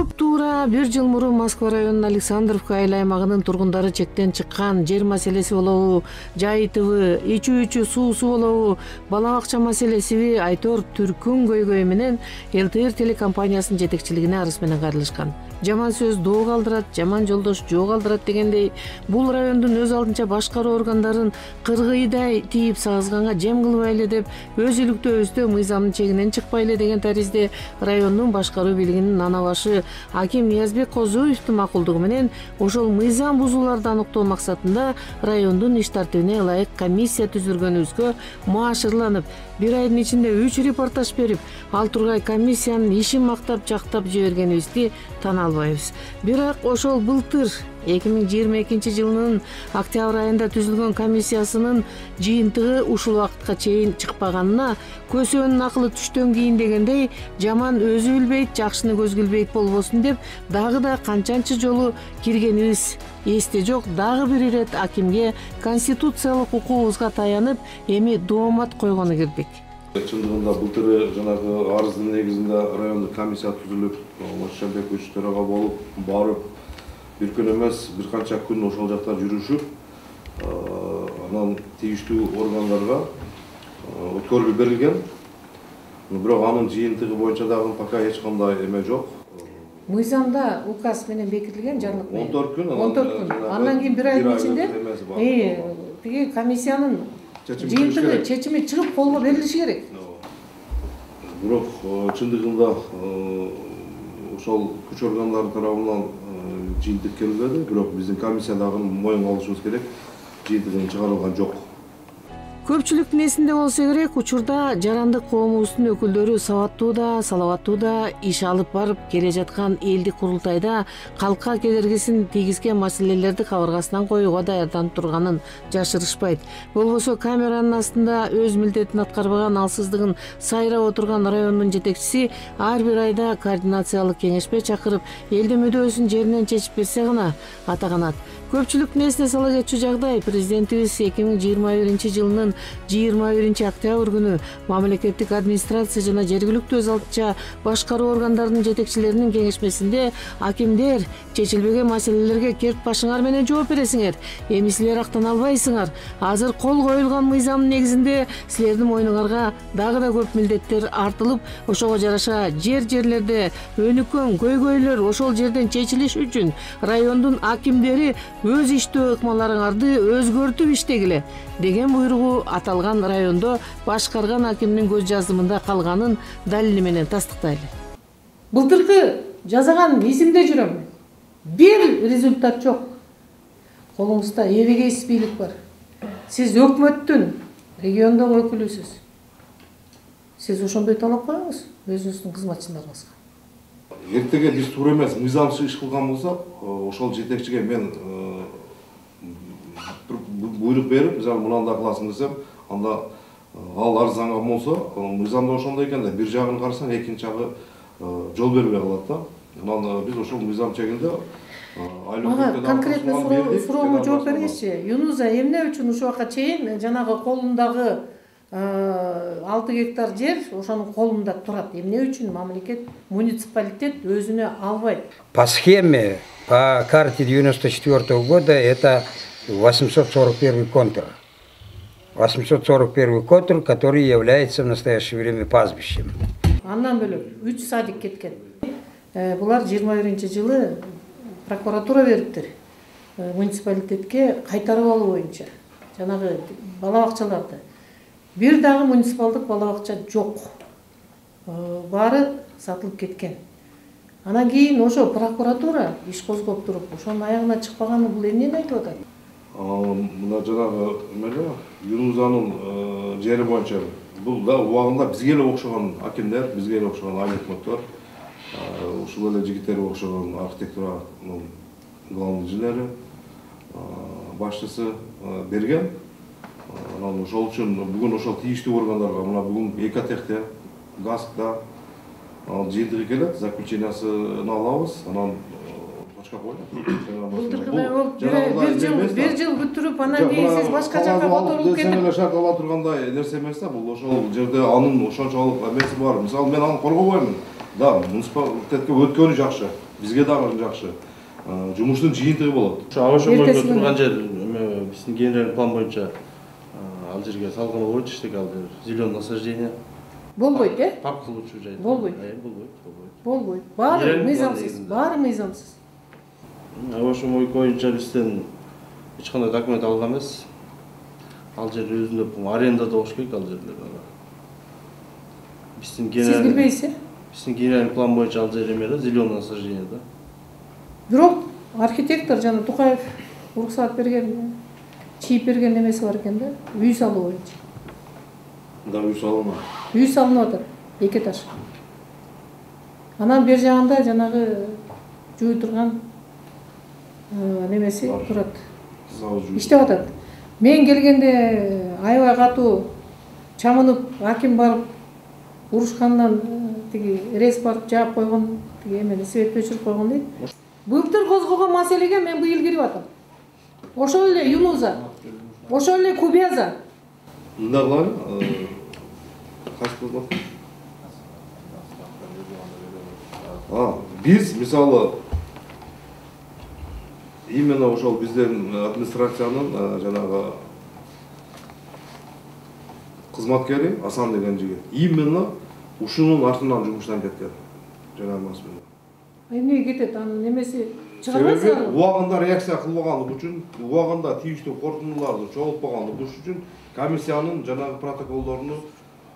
Туп-туура 1 жыл мурун Москва районунун Александровка айыл аймагынын тургундары чектен чыккан жер маселеси болобу, жайытыбы, ичүү суусу болобу, бала бакча маселесиби Айтор Түркүн көйгөйү менен ЛТР телекомпаниясынын жетекчилигине арыз менен кайрылышкан. Жаман сөз доо калдырат, жаман жолдош жоо калдырат дегендей, бул райондун өз алдынча башкаруу органдарын кыргыйдай тийип сагызганга жем кылбайлы деп, өз иликтөөбүздө мыйзамдын чегинен чыкпайлы деген таризде райондун башкаруу бийлигинин нана башы Аким Ниязбек Козоевдин макулдугу менен ошол мыйзам бузууларды аныктоо максатында райондун иш тартибине ылайык комиссия түзүлгөнүбүзгө маашырланып, 1 айдын ичинде 3 репортаж берип, ал тургай комиссиянын ишин мактап жактап жибергенибизди тана албайбыз. Бирок ошол былтыр 2022 жылынын октябрь айында түзүлгөн комиссиясынын жыйынтыгы ушул убакытка чейин чыкпаганына көсөөнүн акылы түштөн кийин дегендей, жаман өзү билбейт, жакшыны көзгө илбейт болбосун деп, дагы да канчанчы жолу киргенибиз эсте жок. Дагы бир ирет акимге конституциялык укугубузга таянып, эми доомат койгону кирдик. Чындыгында былтыры жанагы арыздын негизинде райондук комиссия түзүлүп, Шамбекович төрага болуп барып, бир күн эмес, бир канча күн ошол жакта жүрүшүп, анан тийиштүү органдарга өткөрүлүп берилген. Бирок анын жыйынтыгы боюнча дагы пока эч кандай эме жок. Мыйзамда указ менен бекитилген жарлык менен 14 күн. 14 күн. Андан кийин 1 айдын ичинде тиги комиссиянын жыйынтыгы чечими чыгып колго берилиши керек. Бирок чындыгында ошол күч органдары тарабынан жыйынтык келбеди. Бирок биздин комиссиядагы моюнга алышыбыз керек, жыйынтыгы чыгарылган жок. Көпчүлүктүн эсинде болсо керек, учурда жарандык коомубуздун өкүлдөрү сабаттуу да, салаваттуу да иш алып барып келе жаткан элдик курултайда калкка кедергисин тийгизген маселелерди кабыргасынан коюуга даярданып турганын жашырышпайт. Болбосо камеранын астында өз милдетин аткарбаган, алсыздыгын сайрап отурган райондун жетекчиси ар бир айда координациялык кеңешпе чакырып, элдин мүдөөсүн жеринен чечип берсе гана ата канат. Көпчүлүктүн эсине сала кетчү жагдай, президентибиз 2021 жылынын 21 октябрь күнү мамлекеттик администрация жана жергиликтүү өз алдынча башкаруу органдарынын жетекчилеринин кеңешмесинде акимдер чечилбеген маселелерге керт башыңар менен жооп бересиңер. Эми силер актана албайсыңар. Азыр кол коюлган мыйзамдын негизинде силердин мойнуңарга дагы да көп милдеттер артылып, ошого жараша жерлерде өнүккөн көйгөйлөр ошол жерден чечилиш үчүн райондун акимдери өз иштөө ыкмаларыңарды өзгөртүп иштегиле деген буйругу аталган райондо башкарган акимдин көз жазымында калганын далили менен тастыктайлы. Былтыркы жасаган изимде жүрөм. Бир результат жок. Колуңузда эбегейсиз бийлик бар. Сиз өкмөттүн, региондон өкүлүсүз. Сиз ошондой талап коюңуз өзүңүздүн кызматчыларыңызга. Эртеге биз туура эмес мыйзамсыз иш кылган болсок, ошол жетекчиге мен буйрук берип, мисалы мынандай кыласың десем, анда ал арызанган болсо, мыйзамда ошондой экен да, бир жагын карасаң, экинчи жагы жол бербей калат да. Анан биз ошол мыйзам чегинде ага конкретно суроомо жооп бергичи. Юнуза, эмне үчүн ушул убакка чейин жанагы колундагы 6 гектар жер ошонун колунда турат? Эмне үчүн мамлекет, муниципалитет өзүнө албайт? По схеме, по карте 94 года это 841 контур. 841 контур, который является в настоящее время пастбищем. Андан бөлөк 3 садик кеткен. Булар 21-жылы прокуратура бериптир. Муниципалитетке кайтарып алуу боюнча жанагы бала бакчаларды. Бир дагы муниципалдык бала бакча жок. Баары сатылып кеткен. Анан кийин ошо прокуратура иш козгоп туруп, ошонун аягына чыкпаганы бул эмнени айтып атат? Мына жанагы эмеле Юнузанын жери боюнча бул да убагында бизге эле окшогон акимдер, бизге эле окшогон айыл өкмөттөр, ушул эле жигиттерге окшогон архитектуранын главный инженери, башчысы берген. Анан ошол үчүн бүгүн ошол тийиштүү органдарга, мына бүгүн Экотехте, ГАСКда жыйынтыгы келет, заключениясын алабыз, анан точка коюлат. Бир жыл бүтүрүп, анан кийин сиз башка жакка которулуп кетип. Эле шарт ала тургандай нерсе эмес да, бул ошол жерде анын ошончолук эмеси бар. Мисалы мен аны коргобоймун. Да, муниципалитетке өткөнү жакшы. бизге дагы жакшы. Жумуштун жыйынтыгы болот. Ошо аба шомойго турган жер биздин генеральный план боюнча ал жерге салган болбойт, иштек ал жер зеленый насаждение. Болбойт, Парк кылуучу жай. Болбойт. Болбойт. Баары мыйзамсыз. Аба шомой боюнча бизден эч кандай документ алган эмес. Ал жер өзүнө арендада болуш керек ал жерлер. Биздин Сиз билбейсиз? Биздин генеральный план боюнча ал жер эме да, зеленый насаждение да. Бирок архитектор жана Тукаев уруксаат берген, чийип берген немеси бар экен да, үй салуу боюнча. Да, үй салынат. Үй салынып атат, 2 этаж. Анан бер жагында жанагы жууй турган немеси турат. Иштеп атат. Мен келгенде аябай катуу чамынып, аким барып урушкандан тиги рез барып жаап койгон, тиги эмени свет өчүрүп койгон дейт. Былтыр козгогон маселеге мен быйыл кирип атам. Ошол эле Юнуза, ошол эле Кубяза. Мындай кылалы, кайсы кызмат? Биз мисалы именно ошол биздин администрациянын жанагы кызматкери Асан деген жигит именно ушунун артынан жумуштан кеткен. Жанагы маселе. Эмнеге кетет? Анын немеси чыгарбайсыз? Себеби убагында реакция кылбаганлык үчүн, убагында тийиштүү корутундуларды чогултпаганлык үчүн комиссиянын жанагы протоколдоруну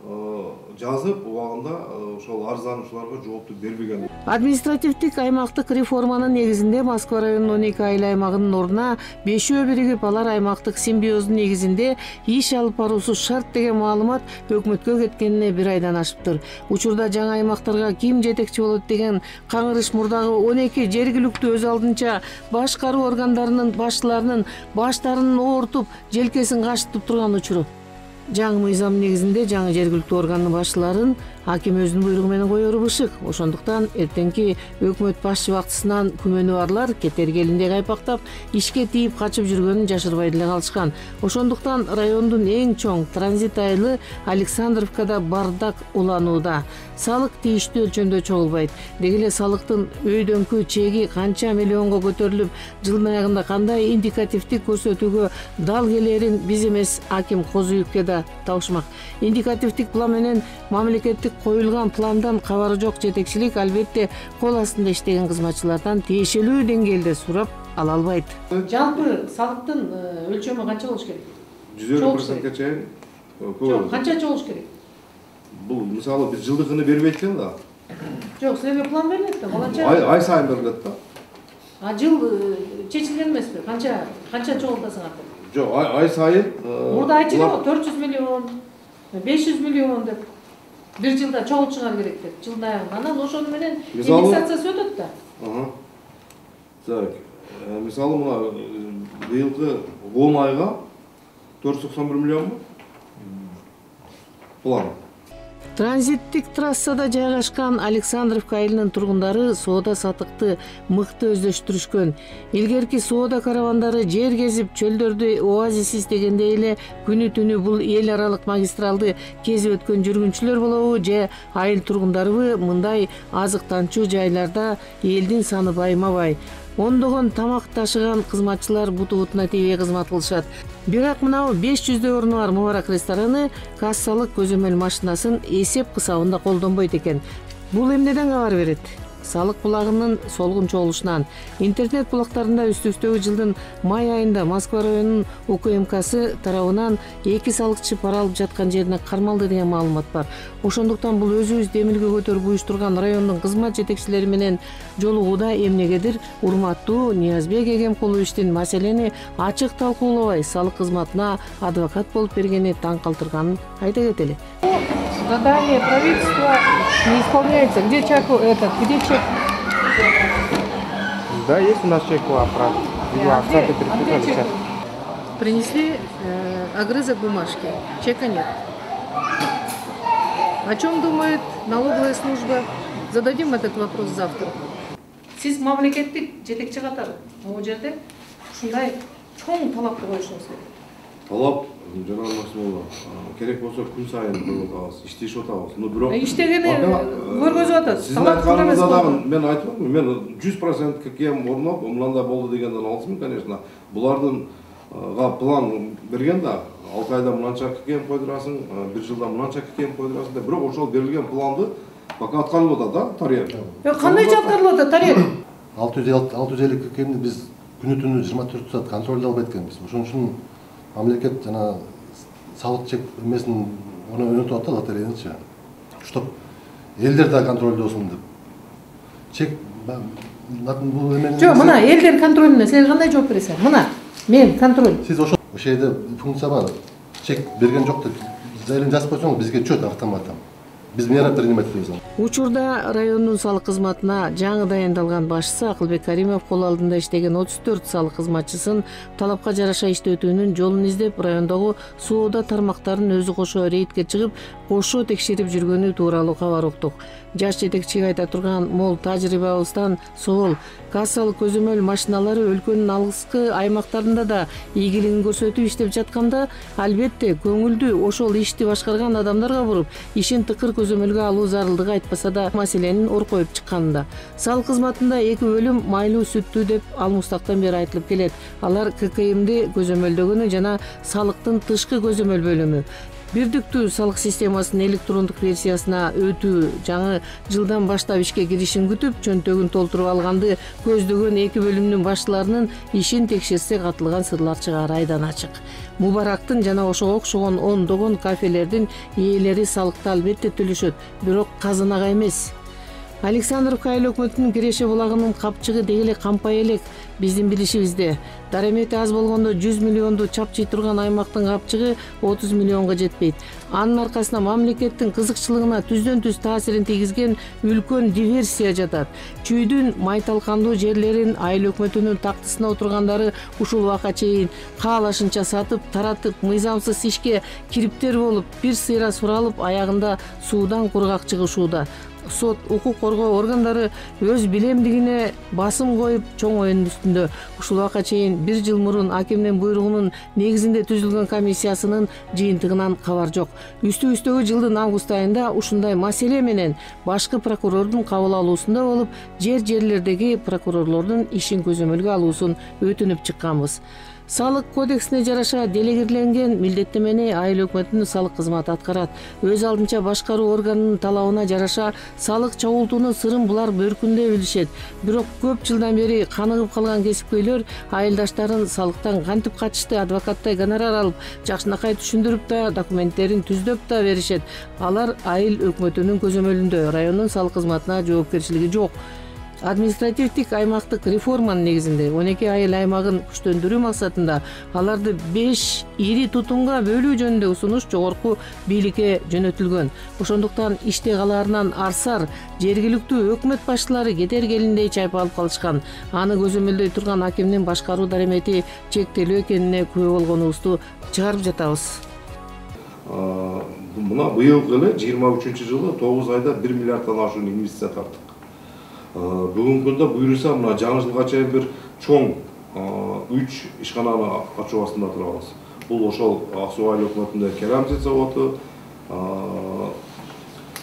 жазып, убагында ошол арыздануучуларга жоопту бербеген. Административдик аймактык реформанын негизинде Москва районунун 12 айыл аймагынын ордуна 5 биригип алар аймактык симбиоздун негизинде иш алып баруусу шарт деген маалымат өкмөткө кеткенине 1 айдан ашыптыр. Учурда жаңы аймактарга ким жетекчи болот деген каңырыш мурдагы 12 жергиликтүү өз алдынча башкаруу органдарынын башчыларынын баштарын оортуп, желкесин качытып турган учуру. Жаңы мыйзам негизинде жаңы жергиликтүү органдын башчыларын аким өзүнүн буйругу менен коеру бышык. Ошондуктан эртеңки өкмөт башчы бактысынан күмөнү барлар кетергелиндей кайпактап, ишке тийип качып жүргөнүн жашырбай деле калышкан. Ошондуктан райондун эң чоң транзит айылы Александровкада бардак уланууда. Салык тийиштүү өлчөмдө чогулбайт. Деги эле салыктын өйдөңкү чеги канча миллионго көтөрүлүп, жылдын аягында кандай индикативдик көрсөтүүгө дал келерин биз эмес, аким Козуевке да табышмак. Индикативдик план менен мамлекеттик коюлган пландан кабары жок жетекчилик албетте кол астында иштеген кызматчылардан тиешелүү деңгээлде сурап ала албайт. Жалпы салыктын өлчөмү канча болуш керек? 150%ке чейин. Жок, канча болуш керек? Бул мисалы биз жылдыгыны бербейт экен да. Жок, силерге план берилет да, баланча. Ай сайын берилет да. Жыл чечилген эмеспи? Канча чогултасыңар деп? Жок, ай сайын. Мурда айтылган 400 миллион, 500 миллион деп. Бир жылда чогултушуңар керек деп, жылдын аягында. Анан ошону менен индексациясы өтөт да. Так. Мисалы мына быйылкы 10 айга 491 миллионбу? План. Транзиттик трассада жайгашкан Александровка айылынын тургундары соода сатыкты мыкты өздөштүрүшкөн. Илгерки соода каравандары жер кезип, чөлдөрдү оазис издегендей эле күнү түнү бул эл аралык магистралды кезип өткөн жүргүнчүлөр болобу же айыл тургундарыбы мындай азыктанчу жайларда элдин саны байма-бай. Ондогон тамак ташыган кызматчылар буту-бутуна тийбей кызмат кылышат. Бирок мынау 500 орну бар Мубарак рестораны кассалык көзөмөл машинасын эсеп кысабында колдонбойт экен. Бул эмнеден кабар берет? Салык булагынын солгун чогулушунан. Интернет булактарында үстүстөгү жылдын май айында Москва районунун УКМКсы тарабынан 2 салыкчы пара алып жаткан жерине кармалды деген маалымат бар. Ошондуктан бул өзүбүз демилге көтөрүп уюштурган райондун кызмат жетекчилери менен жолугууда эмнегедир урматтуу Ниязбек Эгемкуловичтин маселени ачык талкуулабай салык кызматына адвокат болуп бергени таң калтырганын айта кетели. Задание правительства не исполняется. Где чек этот? Где чек? Да, есть у нас чек по оправе. Где чек? Принесли огрызок бумажки. Чека нет. О чем думает налоговая служба? Зададим этот вопрос завтра. Сиз мамлекеттик жетекчи катары могу жерде ушундай чоң талапты коюшуңуз керек. талап жана Максимовна керек болсо күн сайын коюп атабыз, иштешип атабыз. Но бирок иштегени көргөзүп атат. Сиздин айтканыңызда дагы мен айтып атам, мен 100% ККМ орноп, мындай болду дегенден алысмын, конечно. Булардын план берген да, 6 айда мынанча ККМ койдурасың, 1 жылда мынанча ККМ койдурасың деп, бирок ошол берилген планды пока аткарылып атат да, тарыйып. Кандайча аткарылып атат тарыйып? 650 ККМди биз күнү-түнү 24 саат контролдоп эткенбиз. Ошон үчүн мамлекет жана салык чек эмесин өнөтүп атат лотерейничи. Чтоб элдер да контролдосун деп. Чек бул эмени. Жок, мына элдер контролуна сен кандай жооп бересиң? Мына мен контроль. Сиз ошол жерде функция бар. Чек берген жок деп заявление жазып койсоң бизге чөт автоматтан. Биз мера принимать этебиз. Учурда райондун салык кызматына жаңы дайындалган башчысы Акылбек Каримов кол алдында иштеген 34 салык кызматчысын талапка жараша иштетүүнүн жолун издеп, райондогу соода тармактарын өзү кошо рейдке чыгып, кошо текшерип жүргөнү тууралуу кабар уктук. Жаш жетекчиге айта турган мол тажрыйбабыздан соол кассалык көзөмөл машиналары өлкөнүн алыскы аймактарында да ийгилигин көрсөтүп иштеп жатканда, албетте көңүлдү ошол ишти башкарган адамдарга буруп, ишин тыкыр көзөмөлгө алуу зарылдыгы айтпаса да маселенин оркоюп чыкканында. Салык кызматында 2 бөлүм майлуу сүттүү деп алмустактан бери айтылып келет. Алар ККМди көзөмөлдөгөнү жана салыктын тышкы көзөмөл бөлүмү. Бирдиктүү салык системасынын электрондук версиясына өтүү жаңы жылдан баштап ишке киришин күтүп, чөнтөгүн толтуруп алганды көздөгөн 2 бөлүмдүн башчыларынын ишин текшерсек атылган сырлар чыгары айдан ачык. Мубарактын жана ошого окшогон ондогон кафелердин ээлери салыкты албетте төлөшөт, бирок казынага эмес. Александровка айыл өкмөтүнүн Киреше булагынын капчыгы деги эле кампай элек. Биздин билишибизде дарамети аз болгондо 100 миллионду чапчый турган аймактын капчыгы 30 миллионго жетпейт. Анын аркасында мамлекеттин кызыкчылыгына түздөн-түз таасирин тийгизген үлкөн диверсия жатат. Чүйдүн майталкандуу жерлерин айыл өкмөтүнүн тактысына отургандары ушул убакка чейин каалашынча сатып, таратып, мыйзамсыз ишке кириптер болуп, бир сыйра суралып, аягында суудан кургак чыгышууда. Сот, укук коргоо органдары өз билемдигине басым коюп чоң оюнун үстүндө. Ушул убакка чейин 1 жыл мурун акимдин буйругунун негизинде түзүлгөн комиссиясынын жыйынтыгынан кабар жок. Үстүбүздөгү жылдын август айында ушундай маселе менен башкы прокурордун кабыл алуусунда болуп, жерлердеги прокурорлордун ишин көзөмөлгө алуусун өтүнүп чыкканбыз. Салык кодексине жараша делегирленген милдеттемени айыл өкмөтүнүн салык кызматы аткарат. Өз алдынча башкаруу органынын талабына жараша салык чогултуунун сырын булар бөркүндө билишет. Бирок көп жылдан бери каныгып калган кесипкөйлөр айылдаштарын салыктан кантип качышты, адвокаттай гонорар алып, жакшынакай түшүндүрүп да, документтерин түздөп да беришет. Алар айыл өкмөтүнүн көзөмөлүндө, райондун салык кызматына жоопкерчилиги жок. Административдик аймактык реформанын негизинде 12 айыл аймагын күчтөндүрүү максатында аларды 5 ири тутумга бөлүү жөнүндө сунуш жогорку бийликке жөнөтүлгөн. Ошондуктан иште калаарынан арсар жергиликтүү өкмөт башчылары кетер келиндей чайпалып калышкан. Аны көзөмөлдөй турган акимдин башкаруу даремети чектелүү экенине күбө болгонубузду чыгарып жатабыз. Мына быйыл эле 23-жылы 9 айда 1 миллиарддан ашуун инвестиция тарттык. Бүгүнкү күндө буюрса мына жаңы жылга чейин бир чоң 3 ишкананы ачуу астында турабыз. Бул ошол Ак суу айыл өкмөтүндөгү керамзит заводу,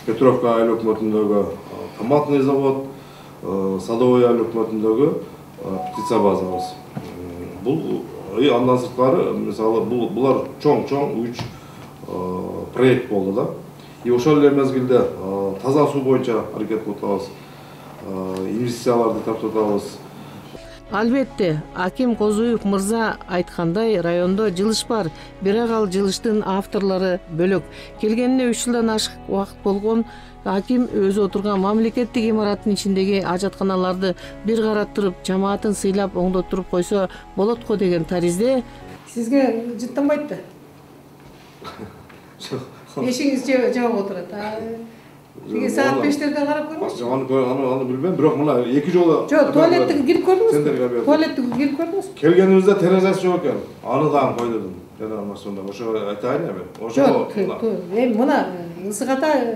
Петровка айыл өкмөтүндөгү томатный завод, Садовой айыл өкмөтүндөгү птица базабыз. Бул андан сырткары мисалы булар чоң 3 проект болду да. И ошол эле мезгилде таза суу боюнча аракет кылып атабыз. Инвестицияларды тартып атабыз. Албетте, аким Козуев мырза айткандай, райондо жылыш бар, бирок ал жылыштын авторлору бөлөк. Келгенине 3 жылдан ашык убакыт болгон аким өзү отурган мамлекеттик имараттын ичиндеги ажатканаларды бир караттырып, жамаатын сыйлап оңдоттуруп койсо болот го деген таризде. Сизге жыттанбайт да? Эшиңиз жабык отурат. Тиги саат 5-терде карап көрмөкчү. Аны билбейм, бирок мына 2 жолу. Жок, туалеттиге кирип көрдүңүзбү? Туалеттиге кирип көрдүңүзбү? Келгенибизде терезеси жок экен. Аны дагы койдурдум. Жана машинада ошо айтайын эми. Жок, эми мына Ысык Ата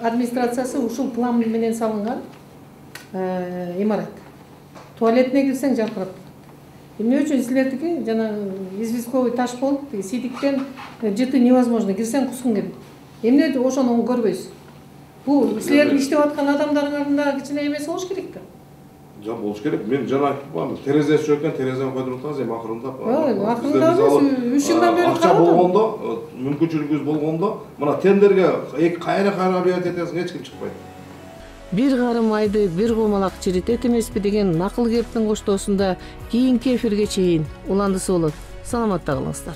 администрациясы ушул план менен салынган имарат. Туалетине кирсең жаркырап. Эмне үчүн силердики жана известковый таш болуп тиги сидиктен жыты невозможно, кирсең кускуң келет. Эмне ошону көрбөйсүз? Бул силердин иштеп аткан адамдарыңардын дагы кичине эмеси болуш керек да. Жок болуш керек. Мен жана айтып коем, терезеси жок экен, терезени койдуруп атабыз, эми акырындап. Акырында эмес, 3 жылдан бери акча болгондо, мүмкүнчүлүгүбүз болгондо, мына тендерге кайра объявить этесиң, эч ким чыкпайт. Бир карым айды бир комалак чиритет эмеспи деген накыл кептин коштоосунда кийинки эфирге чейин уландысы болот. Саламатта калыңыздар.